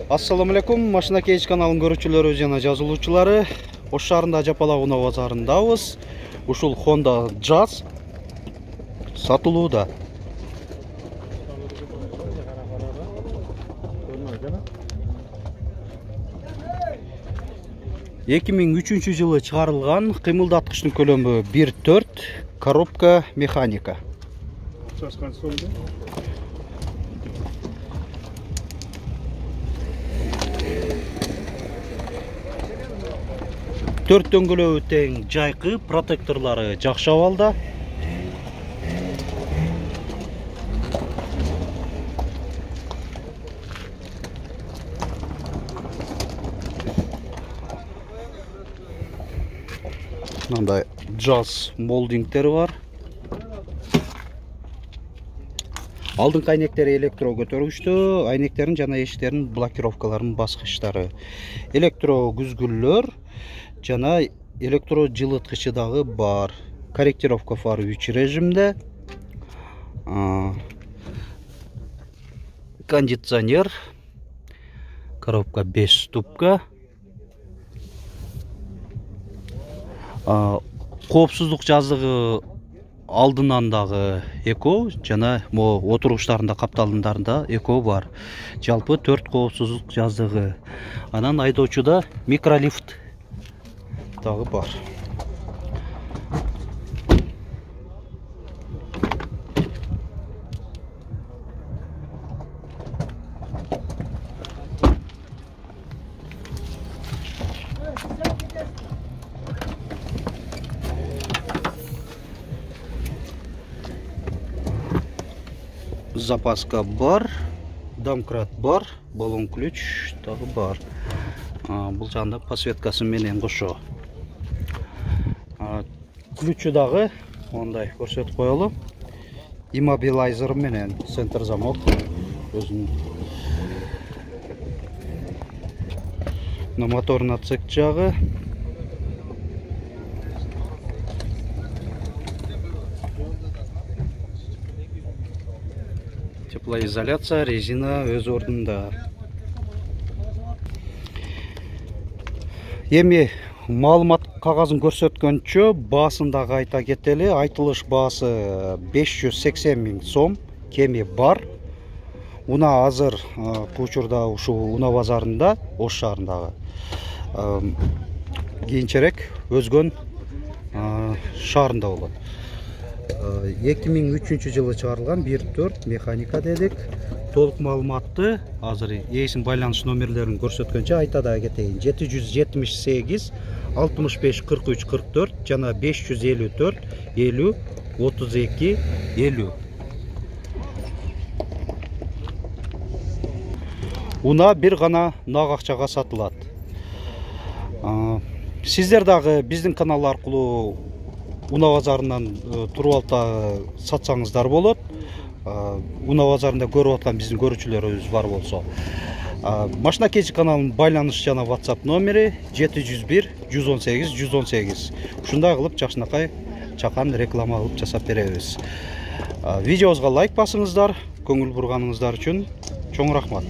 Assalamu alaikum, Машина Кейж каналынын көрүүчүлөрү жана жазылуучулары. Ош шаарында Жапала унаа базарындабыз. Ушул Honda Jazz сатылууда. Эки миң үчүнчү жылы чыгарылган, кыймылдаткычтын көлөмү 1.4, коробка механика. Төрт дөңгөлөбү тең, жайкы, протекторлору жакшы абалда. Мындай Jazz молдингтери бар. Алдыңкы айнектери электро көтөргүчтүү, айнектерин жана эшиктердин блокировкаларынын баскычтары. Электро күзгүллөр жана электро жылыткычы дагы бар. Корректировка фары 3 режимде. Кондиционер. Коробка 5 ступка. Коопсуздук жазыгы алдынан дагы эко жана отуруштарында капталындарында эко бар. Жалпы 4 коопсуздук жазыгы. Анан айдоочуда микролифт дагы бар. Запаска бар, домкрат бар, баллон ключ дагы бар. Бул жагында подсветкасы менен кошо. Ключу дагы ондай көрсөтүп коелу. Иммобилайзер менен центр замок өзүнүн. Моторный отсек жагы. Теплоизоляция, резина өз ордунда. Эми маалымат кагазын көрсөткөнчө баасын дагы айта кетели. Айтылыш баасы 580 000 сом, кеми бар. Унаа азыр учурда ушул унаа базарында, Ош шаарындагы. Кийинчерээк өзгөн шаарында болот. 2003 жылы чыгарылган 1.4 механика дедик. Толук маалыматты азыр ээсин байланыш номерлерин көрсөткөнчө айта да кетейин. 778 65 43 44 жана 554 50 32 50. Унаа бир гана нак акчага сатылат. Сиздер дагы биздин канал аркылуу унаа базарынан туруп алып сатсаңыздар болот. Унаа базарында көрүп аткан биздин көрүүчүлөрүбүз бар болсо. Машина Кейж каналынын байланыш жана WhatsApp номери 701 118 118. Ушундай кылып жакшынакай чакан реклама кылып жасап беребиз. Видеобузга лайк басыңыздар, көңүл бурганыңыздар үчүн чоң рахмат.